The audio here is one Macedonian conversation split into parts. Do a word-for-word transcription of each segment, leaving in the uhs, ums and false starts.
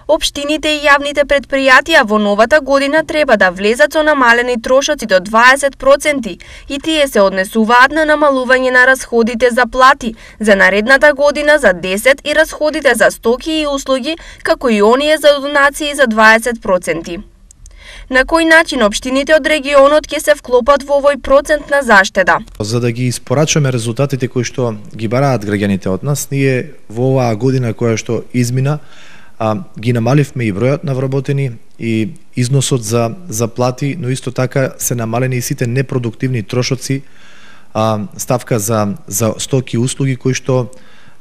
Општините и јавните предпријатија во новата година треба да влезат со намалени трошоци до дваесет проценти и тие се однесуваат на намалување на расходите за плати за наредната година за десет и расходите за стоки и услуги, како и оние за донации за дваесет проценти. На кој начин општините од регионот ќе се вклопат во овој процент на заштеда? За да ги испорачаме резултатите кои што ги бараат граѓаните од нас, ние во оваа година која што измина, а, ги намаливме и бројот на вработени и износот за за плати, но исто така се намалени и сите непродуктивни трошоци, а, ставка за за стоки и услуги кои што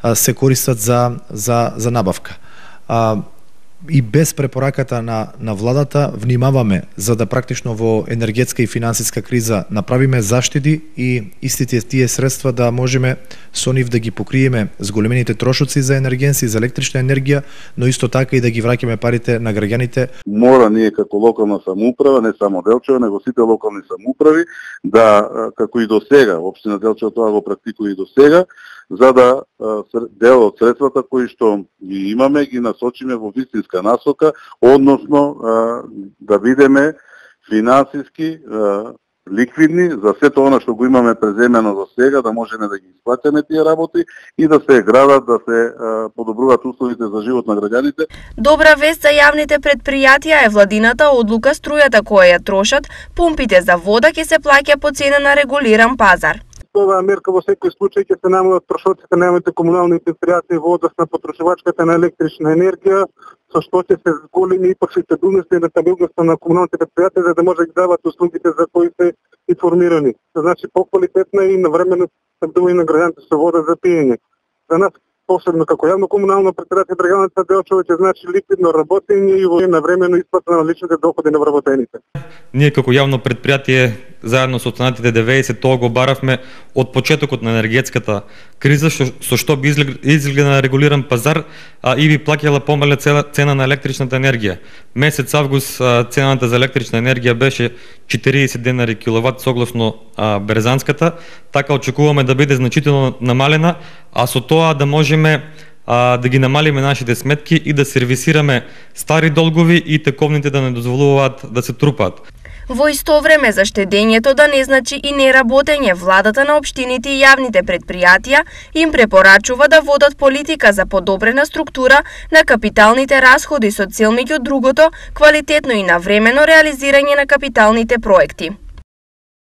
а, се користат за за за набавка. А, и без препораката на на владата внимаваме за да практично во енергетска и финансиска криза направиме заштеди и истите тие средства да можеме со нив да ги покриеме зголемените трошоци за енергенси, за електрична енергија, но исто така и да ги враќаме парите на граѓаните. Мора ние како локална самоуправа, не само Делчево, него сите локални самоуправи да, како и до сега, општина Делчево тоа го практикува и до сега, за да дел од средствата кои што ги имаме ги насочиме во вистинска насока, односно да бидеме финансиски ликвидни за сето она што го имаме преземено до сега, да можеме да ги исплатиме тие работи и да се градат, да се подобруваат условите за живот на граѓаните. Добра вест за јавните предпријатија е владината одлука струјата која ја трошат, пумпите за вода ќе се плаќа по цена на регулиран пазар. Оваа мерка во секој случај ќе се намалат трошоците на јавните комунални предпријатија во однос на потршувачката на електрична енергија, со што ќе се зголеми и профитабилноста и рентабилноста на комуналните предпријатија за да може да ги дават услугите за кои се информирани. Значи популитетна и навремено снабдување на граѓаните со вода за пиење. За нас посебно како јавно комунално предпријатие Драгановица Делчево ќе значи ликвидно работење и во навремено исплата на личните доходи на вработените. Ние како јавно предпријатие заедно со останатите деветдесет тоа го баравме од почетокот на енергетската криза, шо, со што би изгледа на регулиран пазар а, и би плаќала помална цена на електричната енергија. Месец август а, цената за електрична енергија беше четириесет денари киловат согласно а, Березанската, така очекуваме да биде значително намалена, а со тоа да можеме а, да ги намалиме нашите сметки и да сервисираме стари долгови и тековните да не дозволуваат да се трупаат. Во исто време за штедењето да не значи и неработење, владата на општините и јавните предпријатија им препорачува да водат политика за подобрена структура на капиталните расходи со цел меѓу другото квалитетно и навремено реализирање на капиталните проекти.